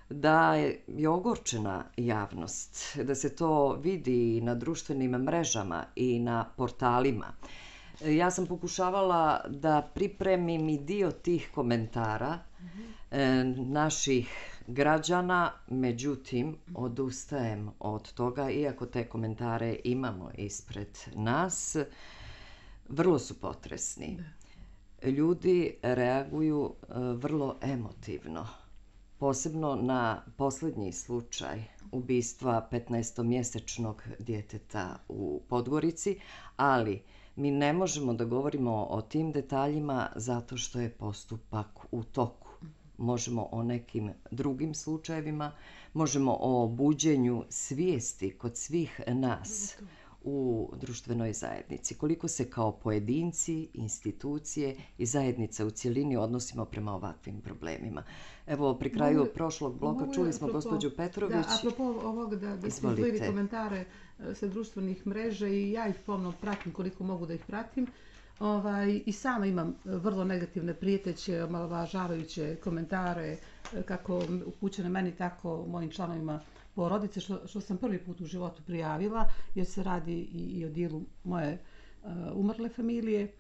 da je ogorčena javnost, da se to vidi na društvenim mrežama i na portalima. Ja sam pokušavala da pripremim i dio tih komentara mm-hmm. naših građana, međutim, odustajem od toga, iako te komentare imamo ispred nas. Vrlo su potresni. Ljudi reaguju vrlo emotivno. Posebno na posljednji slučaj ubistva petnaestomjesečnog djeteta u Podgorici, ali mi ne možemo da govorimo o tim detaljima zato što je postupak u toku. Možemo o nekim drugim slučajevima, možemo o buđenju svijesti kod svih nas u društvenoj zajednici. Koliko se kao pojedinci, institucije i zajednica u cjelini odnosimo prema ovakvim problemima. Evo, pri kraju mogu, prošlog bloka čuli smo apropo, gospođu Petrović. Da, apropo ovog da, da ste izdvojili komentare sa društvenih mreža i ja ih pomno pratim koliko mogu da ih pratim. Ovaj, I sama imam vrlo negativne prijeteće, omalovažavajuće komentare kako upućene meni, tako mojim članovima porodice, što, što sam prvi put u životu prijavila, jer se radi i, i o dijelu moje uh, umrle familije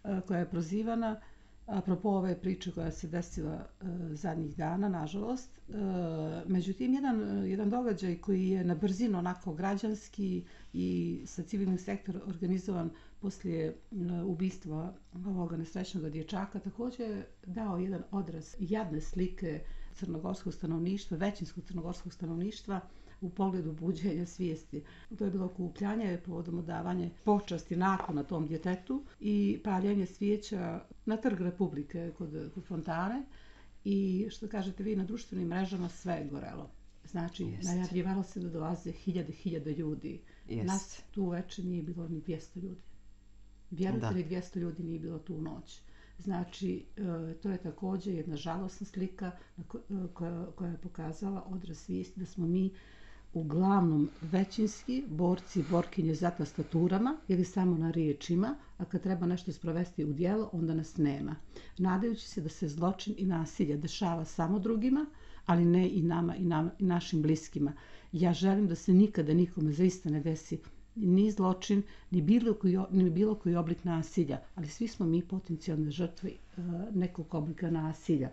uh, koja je prozivana. Apropo ove priče koja se desila uh, zadnjih dana, nažalost. Uh, međutim, jedan, jedan događaj koji je na brzinu, onako građanski i sa civilnim sektorom organizovan poslije uh, ubistva ovoga nesrećnog dječaka, također je dao jedan odraz jadne slike crnogorskog stanovništva, većinskog crnogorskog stanovništva u pogledu buđenja svijesti. To je bilo okupljanje povodom odavanja počasti nakon na tom djetetu i paljenje svijeća na Trg Republike kod, kod fontane. i što kažete vi, na društvenim mrežama sve je gorelo. Znači, Jest. najavljivalo se da dolaze hiljade, hiljade ljudi. Jest. Nas tu uveče nije bilo ni dvjesto ljudi. Vjerujte Da. li dvjesto ljudi nije bilo tu u noć. Znači, e, to je također jedna žalosna slika na ko- e, koja, koja je pokazala odraz svijesti da smo mi uglavnom većinski borci i borkinje za tastaturama ili samo na riječima, a kad treba nešto sprovesti u djelo, onda nas nema. Nadajući se da se zločin i nasilje dešava samo drugima, ali ne i nama i, nama, i našim bliskima. Ja želim da se nikada nikome zaista ne desi ni zločin, ni bilo koji, ni bilo koji oblik nasilja, ali svi smo mi potencijalne žrtve uh, nekog oblika nasilja.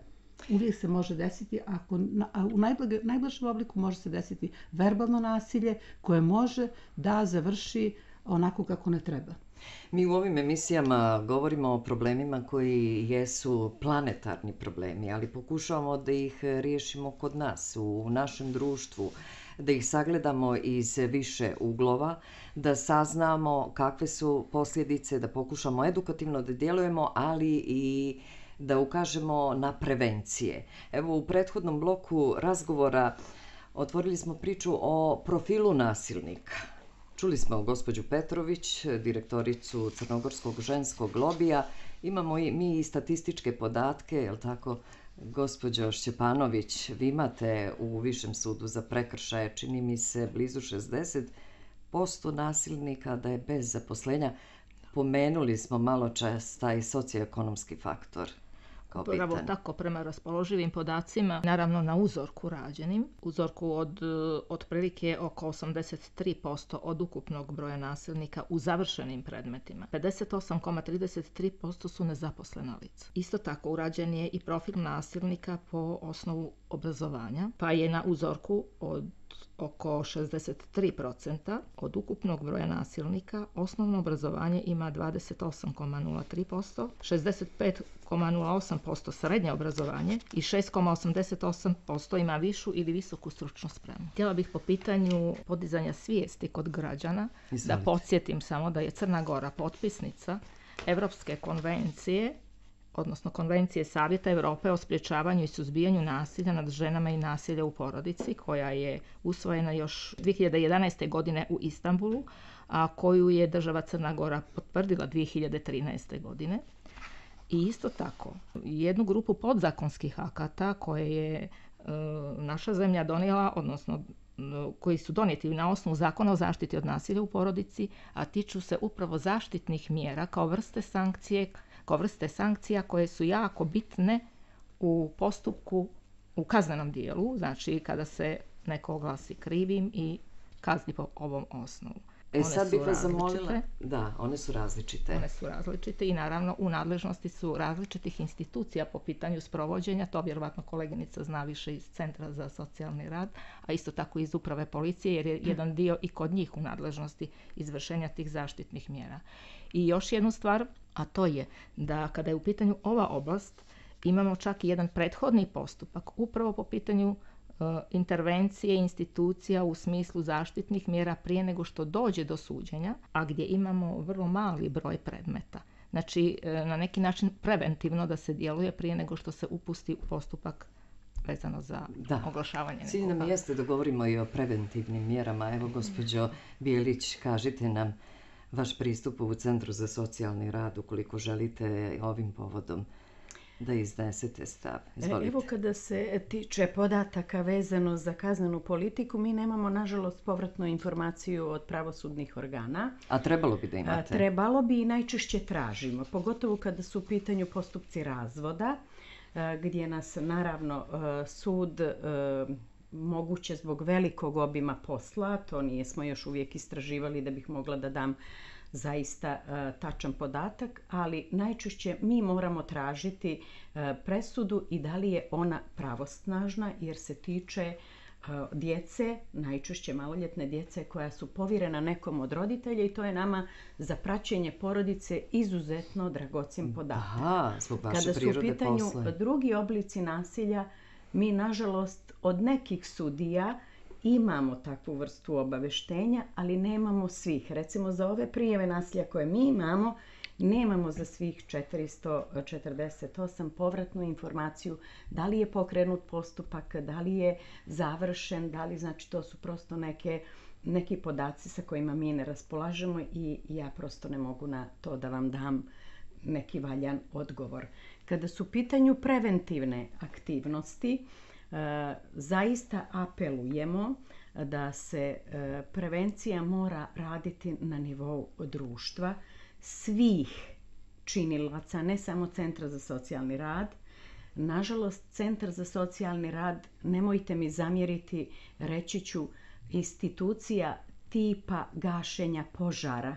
Uvijek se može desiti, ako, na, a u najblage, najblažem obliku može se desiti verbalno nasilje koje može da završi onako kako ne treba. Mi u ovim emisijama govorimo o problemima koji jesu planetarni problemi, ali pokušavamo da ih riješimo kod nas, u našem društvu, da ih sagledamo iz više uglova, da saznamo kakve su posljedice, da pokušamo edukativno da djelujemo, ali i da ukažemo na prevencije. Evo, u prethodnom bloku razgovora otvorili smo priču o profilu nasilnika. Čuli smo gospođu Petrović, direktoricu Crnogorskog ženskog lobija. Imamo i mi i statističke podatke, je li tako, gospođo Šćepanović? Vi imate u Višem sudu za prekršaje, čini mi se, blizu šezdeset posto nasilnika da je bez zaposlenja. Pomenuli smo malo čas taj socioekonomski faktor kao Upravo bitan. tako, prema raspoloživim podacima, naravno na uzorku rađenim, uzorku od otprilike oko osamdeset tri posto od ukupnog broja nasilnika u završenim predmetima. pedeset osam zarez trideset tri posto su nezaposlena lica. Isto tako urađen je i profil nasilnika po osnovu obrazovanja, pa je na uzorku od oko šezdeset tri posto od ukupnog broja nasilnika osnovno obrazovanje ima dvadeset osam zarez nula tri posto, šezdeset pet zarez nula osam posto srednje obrazovanje i šest zarez osamdeset osam posto ima višu ili visoku stručnu spremu. Htjela bih po pitanju podizanja svijesti kod građana Izvolite. da podsjetim samo da je Crna Gora potpisnica Evropske konvencije, odnosno Konvencije Savjeta Europe o sprječavanju i suzbijanju nasilja nad ženama i nasilja u porodici, koja je usvojena još dvije hiljade jedanaeste. godine u Istanbulu, a koju je država Crna Gora potvrdila dvije hiljade trinaeste. godine. I isto tako, jednu grupu podzakonskih akata koje je e, naša zemlja donijela, odnosno koji su donijeti na osnovu Zakona o zaštiti od nasilja u porodici, a tiču se upravo zaštitnih mjera kao vrste sankcije, kao vrste sankcija koje su jako bitne u postupku, u kaznenom dijelu, znači kada se neko oglasi krivim i kazni po ovom osnovu. E One sad su bih vas zamolila. različite. Da, one su različite. One su različite i naravno u nadležnosti su različitih institucija po pitanju sprovođenja, to vjerovatno koleginica zna više iz Centra za socijalni rad, a isto tako iz uprave policije, jer je jedan dio i kod njih u nadležnosti izvršenja tih zaštitnih mjera. I još jednu stvar, a to je da kada je u pitanju ova oblast, imamo čak i jedan prethodni postupak upravo po pitanju intervencije institucija u smislu zaštitnih mjera prije nego što dođe do suđenja, a gdje imamo vrlo mali broj predmeta. Znači, na neki način preventivno da se djeluje prije nego što se upusti u postupak vezano za Da. oglašavanje Cilj nam nekoga. jeste da govorimo i o preventivnim mjerama. Evo, gospođo Bijelić, kažite nam vaš pristup u Centru za socijalni rad ukoliko želite ovim povodom da iznesete stav. Izvolite. Evo, kada se tiče podataka vezano za kaznenu politiku, mi nemamo nažalost povratnu informaciju od pravosudnih organa. A trebalo bi da A, imate. Trebalo bi i najčešće tražimo, pogotovo kada su u pitanju postupci razvoda, a, gdje nas naravno a, sud a, moguće zbog velikog obima posla, to nijesmo još uvijek istraživali da bih mogla da dam zaista uh, tačan podatak, ali najčešće mi moramo tražiti uh, presudu i da li je ona pravosnažna, jer se tiče uh, djece, najčešće maloljetne djece koja su povjerena nekom od roditelja, i to je nama za praćenje porodice izuzetno dragocjen podatak. Aha, zbog vaše Kada su u prirode pitanju posla. drugi oblici nasilja, mi nažalost od nekih sudija imamo takvu vrstu obaveštenja, ali nemamo svih. Recimo, za ove prijave nasilja koje mi imamo, Nemamo za svih četiristo četrdeset osam povratnu informaciju da li je pokrenut postupak, da li je završen, da li, znači to su prosto neke, neki podaci sa kojima mi ne raspolažemo i ja prosto ne mogu na to da vam dam neki valjan odgovor. Kada su u pitanju preventivne aktivnosti, zaista apelujemo da se prevencija mora raditi na nivou društva, svih činilaca, ne samo Centra za socijalni rad. Nažalost, Centar za socijalni rad, nemojte mi zamjeriti, reći ću, institucija tipa gašenja požara,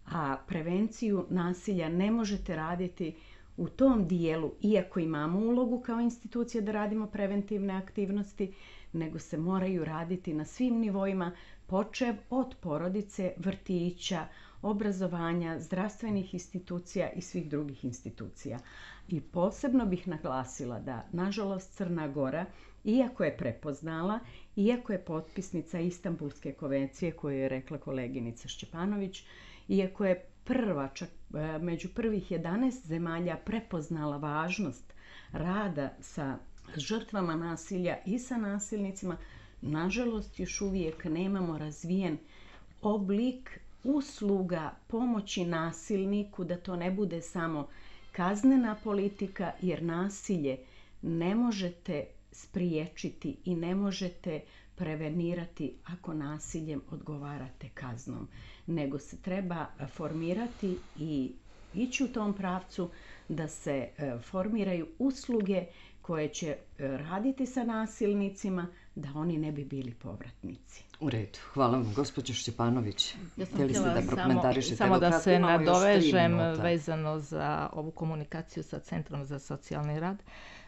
a prevenciju nasilja ne možete raditi u tom dijelu, iako imamo ulogu kao institucija da radimo preventivne aktivnosti, nego se moraju raditi na svim nivoima, počev od porodice, vrtića, obrazovanja, zdravstvenih institucija i svih drugih institucija. I posebno bih naglasila da, nažalost, Crna Gora, iako je prepoznala, iako je potpisnica Istanbulske konvencije koju je rekla koleginica Šćepanović, iako je prva, čak među prvih jedanaest zemalja prepoznala važnost rada sa žrtvama nasilja i sa nasilnicima, nažalost još uvijek nemamo razvijen oblik usluga pomoći nasilniku, da to ne bude samo kaznena politika, jer nasilje ne možete spriječiti i ne možete prevenirati ako nasiljem odgovarate kaznom, nego se treba formirati i ići u tom pravcu da se formiraju usluge koje će raditi sa nasilnicima, da oni ne bi bili povratnici. U redu. Hvala vam, gospođo Šćepanović. Ja sam Htjeli ste htjela da prokomentarišete? samo, samo da Kratko, se imamo još tri nadovežem minuta. vezano za ovu komunikaciju sa Centrom za socijalni rad.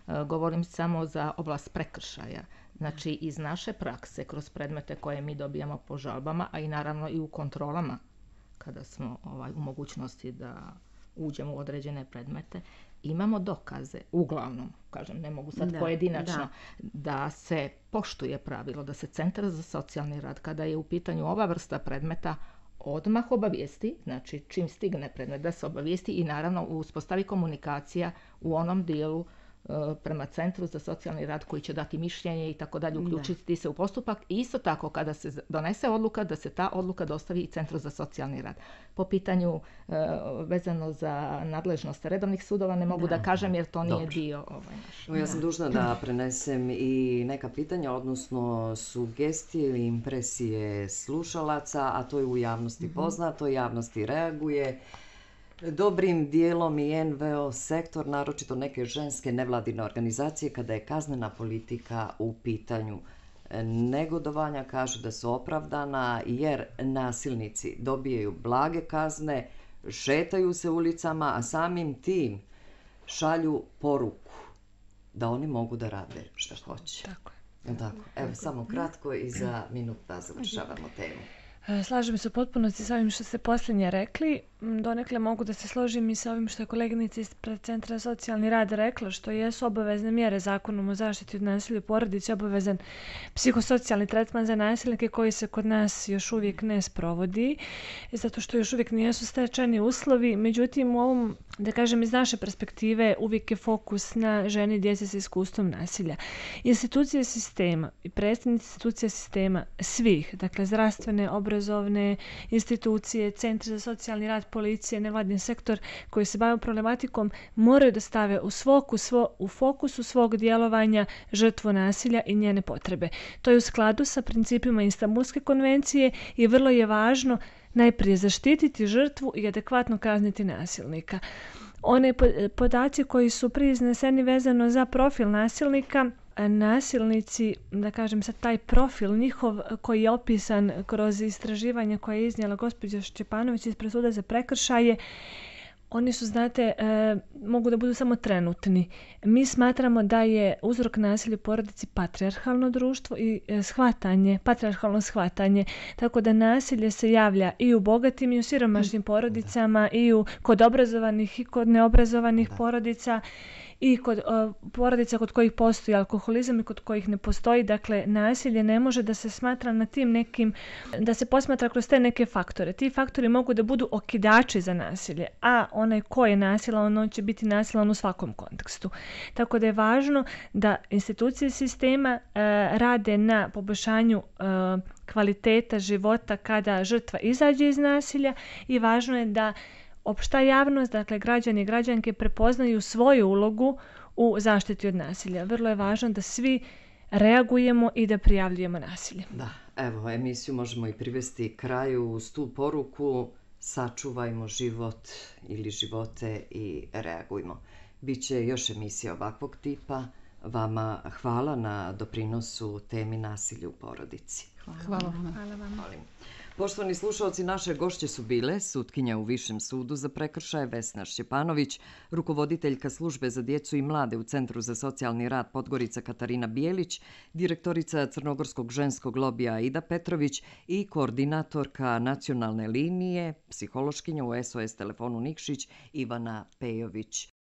E, Govorim samo za oblast prekršaja. Znači, iz naše prakse, kroz predmete koje mi dobijamo po žalbama, a i naravno i u kontrolama, kada smo ovaj, u mogućnosti da uđemo u određene predmete, imamo dokaze, uglavnom, kažem, ne mogu sad Da, pojedinačno, da. da se poštuje pravilo, da se Centar za socijalni rad, kada je u pitanju ova vrsta predmeta, odmah obavijesti, znači čim stigne predmet da se obavijesti i naravno uspostavi komunikacija u onom dijelu prema Centru za socijalni rad koji će dati mišljenje i tako dalje, uključiti se u postupak. I isto tako, kada se donese odluka, da se ta odluka dostavi i Centru za socijalni rad. Po pitanju e, vezano za nadležnost redovnih sudova ne mogu da, da kažem jer to nije Dobro. dio ovaj naš. Ja sam dužna da prenesem i neka pitanja, odnosno sugestije ili impresije slušalaca, a to je u javnosti poznato, javnosti reaguje. Dobrim dijelom i en ve o sektor, naročito neke ženske nevladine organizacije, kada je kaznena politika u pitanju. Negodovanja kažu da su opravdana jer nasilnici dobijaju blage kazne, šetaju se ulicama, a samim tim šalju poruku da oni mogu da rade šta hoće. Tako je. Tako. Evo, samo kratko i za minut da završavamo temu. Slažem se u potpunosti sa ovim što ste posljednje rekli. Donekle mogu da se složim i sa ovim što je koleginica ispred Centra za socijalni rad rekla, što jesu obavezne mjere Zakonom o zaštiti od nasilja u porodici, obavezan psihosocijalni tretman za nasilnike koji se kod nas još uvijek ne sprovodi, zato što još uvijek nijesu stečeni uslovi. Međutim, u ovom, da kažem, iz naše perspektive uvijek je fokus na ženi i djeci sa iskustvom nasilja. Institucije sistema i predstavnici institucija sistema svih, dakle zdravstvene, obrazovne institucije, Centri za socijalni rad, policije, nevladin sektor koji se bave problematikom moraju da stave u, svoku, svo, u fokusu svog djelovanja žrtvu nasilja i njene potrebe. To je u skladu sa principima Istanbulske konvencije i vrlo je važno najprije zaštititi žrtvu i adekvatno kazniti nasilnika. One podaci koji su prije izneseni vezano za profil nasilnika, nasilnici, da kažem sad taj profil njihov koji je opisan kroz istraživanje koje je iznijela gospođa Šćepanović ispred suda za prekršaje, oni su, znate, e, mogu da budu samo trenutni. Mi smatramo da je uzrok nasilja u porodici patrijarhalno društvo i e, shvatanje, patrijarhalno shvatanje, tako da nasilje se javlja i u bogatim i u siromašnim porodicama, i u, kod obrazovanih i kod neobrazovanih porodica. i kod uh, porodica kod kojih postoji alkoholizam i kod kojih ne postoji. Dakle, nasilje ne može da se smatra na tim nekim, da se posmatra kroz te neke faktore. Ti faktori mogu da budu okidači za nasilje, a onaj ko je nasilan, on će biti nasilan u svakom kontekstu. Tako da je važno da institucije sistema uh, rade na poboljšanju uh, kvaliteta života kada žrtva izađe iz nasilja i važno je da opšta javnost, dakle građani i građanke prepoznaju svoju ulogu u zaštiti od nasilja. Vrlo je važno da svi reagujemo i da prijavljujemo nasilje. Da, evo, emisiju možemo i privesti kraju uz tu poruku: sačuvajmo život ili živote i reagujmo. Biće još emisija ovakvog tipa. Vama hvala na doprinosu temi nasilja u porodici. Hvala vam. Hvala vam. Molim. Poštovani slušalci, naše gošće su bile sutkinja u Višem sudu za prekršaje Vesna Šćepanović, rukovoditeljka službe za djecu i mlade u Centru za socijalni rad Podgorica Katarina Bijelić, direktorica Crnogorskog ženskog lobija Aida Petrović i koordinatorka nacionalne linije, psihološkinja u S O S telefonu Nikšić Ivana Pejović.